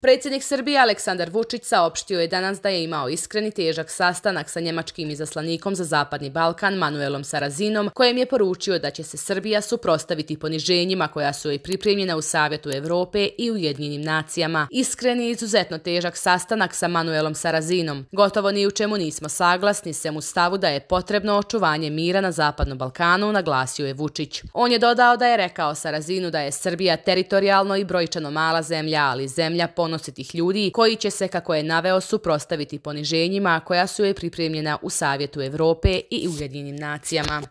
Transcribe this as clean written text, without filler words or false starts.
Predsjednik Srbije Aleksandar Vučić saopštio je danas da je imao iskren i težak sastanak sa njemačkim izaslanikom za Zapadni Balkan Manuelom Sarazinom, kojem je poručio da će se Srbija suprotstaviti poniženjima koja su joj pripremljena u Savjetu Evrope i Ujedinjenim nacijama. Iskren i izuzetno težak sastanak sa Manuelom Sarazinom. Gotovo ni u čemu nismo saglasni, sem u stavu da je potrebno očuvanje mira na Zapadnom Balkanu, naglasio je Vučić. On je dodao da je rekao Sarazinu da je Srbija teritorijalno i brojčano mala zemlja, ali zemlja ponositih ljudi koji će se, kako je naveo, suprotstaviti poniženjima koja su joj pripremljena u Savjetu Evrope i Ujedinjenim nacijama.